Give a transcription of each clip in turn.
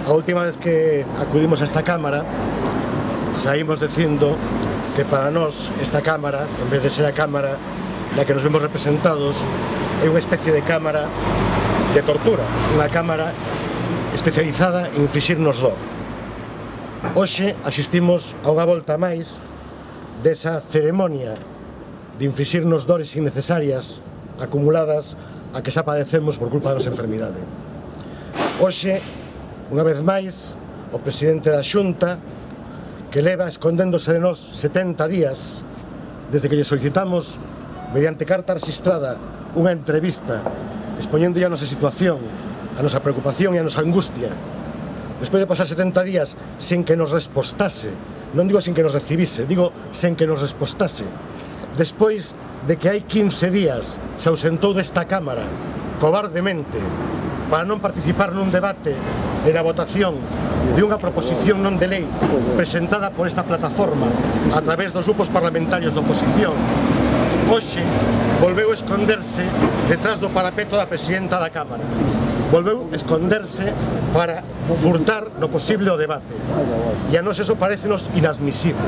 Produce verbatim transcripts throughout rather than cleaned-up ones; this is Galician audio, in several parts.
A última vez que acudimos a esta Cámara saímos dicindo que para nós esta Cámara, en vez de ser a Cámara na que nos vemos representados, é unha especie de Cámara de tortura, unha Cámara especializada en inflixirnos dor. Hoxe asistimos a unha volta máis desa ceremonia de inflixirnos dores innecesarias acumuladas a que xa padecemos por culpa da nosa enfermidade. Hoxe, unha vez máis, o presidente da Xunta, que leva escondéndose de nós setenta días desde que lle solicitamos, mediante carta registrada, unha entrevista expoñendo a nosa situación, a nosa preocupación e a nosa angustia, despois de pasar setenta días sen que nos respostase, non digo sen que nos recibise, digo sen que nos respostase, despois de que hai quince días se ausentou desta Cámara cobardemente para non participar nun debate e na votación de unha proposición non de lei presentada por esta plataforma a través dos grupos parlamentarios de oposición, hoxe volveu esconderse detrás do parapeto da presidenta da Cámara, volveu esconderse para furtar no posible o debate, e a nós eso parecenos inadmisible.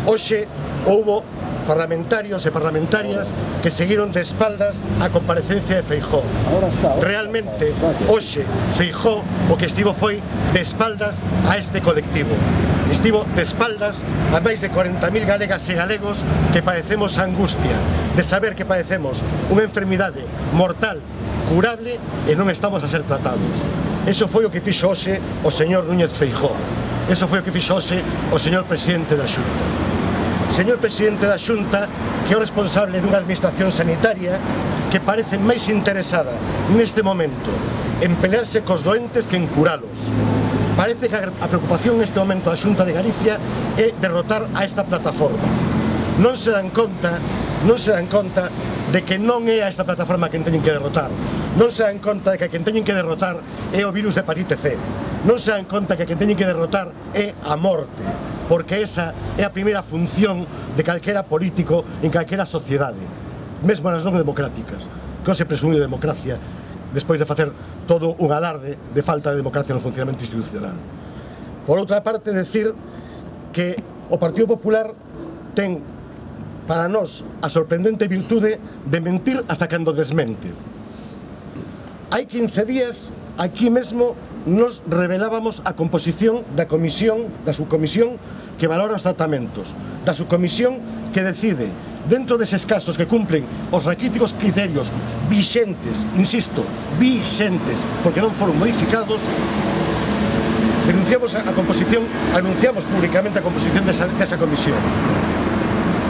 Hoxe houbo parlamentarios e parlamentarias que seguiron de espaldas a comparecencia de Feijóo. Realmente, hoxe, Feijóo o que estivo foi de espaldas a este colectivo. Estivo de espaldas a máis de cuarenta mil galegas e galegos que padecemos a angustia de saber que padecemos unha enfermidade mortal, curable, e non estamos a ser tratados. Eso foi o que fixo hoxe o señor Núñez Feijóo. Eso foi o que fixo hoxe o señor presidente da Xunta. Señor presidente da Xunta, que é o responsable dunha administración sanitaria que parece máis interesada neste momento en pelearse cos doentes que en curalos. Parece que a preocupación neste momento da Xunta de Galicia é derrotar a esta plataforma. Non se dan conta, non se dan conta de que non é a esta plataforma quen teñen que derrotar. Non se dan conta de que quen teñen que derrotar é o virus de hepatite C. Non se dan conta que quen teñen que derrotar é a morte, porque esa é a primeira función de calquera político en calquera sociedade, mesmo nas non democráticas, que se presume de democracia despois de facer todo un alarde de falta de democracia no funcionamento institucional. Por outra parte, decir que o Partido Popular ten para nós a sorprendente virtude de mentir hasta cando desmente. Hai quince días, aquí mesmo, nos revelábamos a composición da comisión, da subcomisión que valora os tratamentos, da subcomisión que decide, dentro deses casos que cumplen os raquíticos criterios vixentes, insisto, vixentes, porque non foron modificados, denunciamos a composición, anunciamos públicamente a composición desa, desa comisión.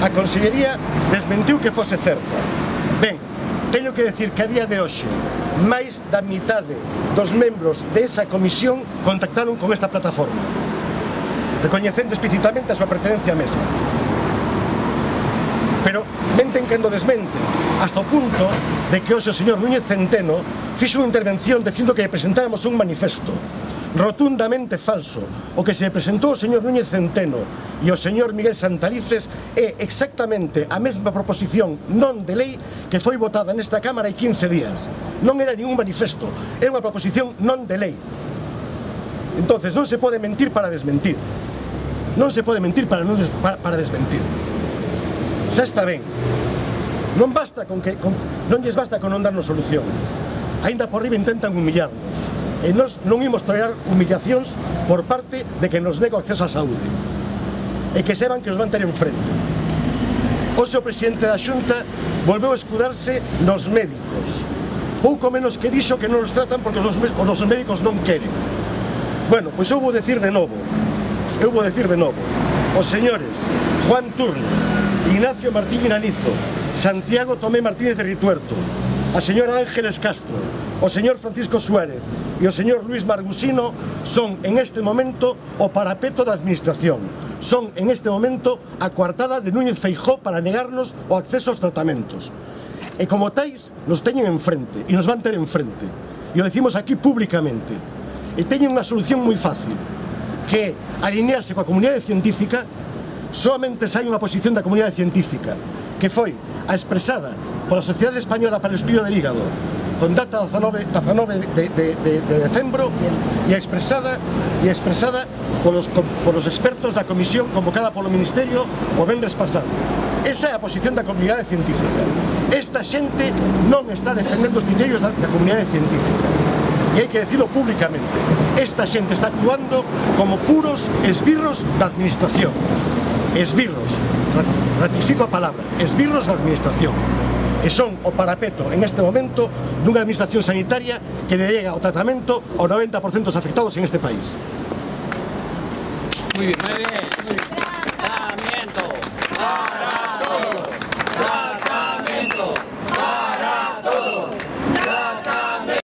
A Consellería desmentiu que fose certa. Ben, teño que decir que a día de hoxe máis da mitade dos membros desa comisión contactaron con esta plataforma, recoñecendo explícitamente a súa pertenencia mesma. Pero menten cando desmenten, hasta o punto de que hoxe o señor Núñez Centeno fixo unha intervención dicindo que presentáramos un manifesto rotundamente falso. O que se presentou o señor Núñez Centeno e o señor Miguel Santalices é exactamente a mesma proposición non de lei que foi votada nesta Cámara hai quince días. Non era ningún manifesto, era unha proposición non de lei. Entonces non se pode mentir para desmentir. Non se pode mentir para, non des, para, para desmentir. Xa está ben. Non basta con que con, non lles basta con non darnos solución. Ainda por riba intentan humillarnos. E nós non imos tolerar humillacións por parte de que nos nega o acceso á saúde e que sepan que nos van ter enfrente. Hoxe o presidente da Xunta volveu a escudarse nos médicos, pouco menos que dixo que non nos tratan porque os nosos médicos non queren. Bueno, pois eu vou decir de novo, eu vou decir de novo, os señores Juan Turnes, Ignacio Martín Inanizo, Santiago Tomé Martínez de Rituerto, a señora Ángeles Castro, o señor Francisco Suárez e o señor Luis Margusino son en este momento o parapeto da administración, son en este momento a coartada de Núñez Feijóo para negarnos o acceso aos tratamentos. E como tais nos teñen enfrente e nos van ter enfrente, e o decimos aquí públicamente, e teñen unha solución moi fácil, que é alinearse coa comunidade científica. Solamente hai unha posición da comunidade científica que foi a expresada pola Sociedade Española para o Estudio del Hígado con data dezanove de, de, de, de decembro e expresada e expresada polos, polos expertos da comisión convocada polo Ministerio o venres pasado. Esa é a posición da comunidade científica. Esta xente non está defendendo os criterios da, da comunidade científica. E hai que decirlo públicamente. Esta xente está actuando como puros esbirros da administración. Esbirros, ratifico a palabra, esbirros da administración. E son o parapeto en este momento dunha administración sanitaria que le llega o tratamento ao noventa por cento dos afectados en este país. Muy bien, muy bien. Tratamiento para todos.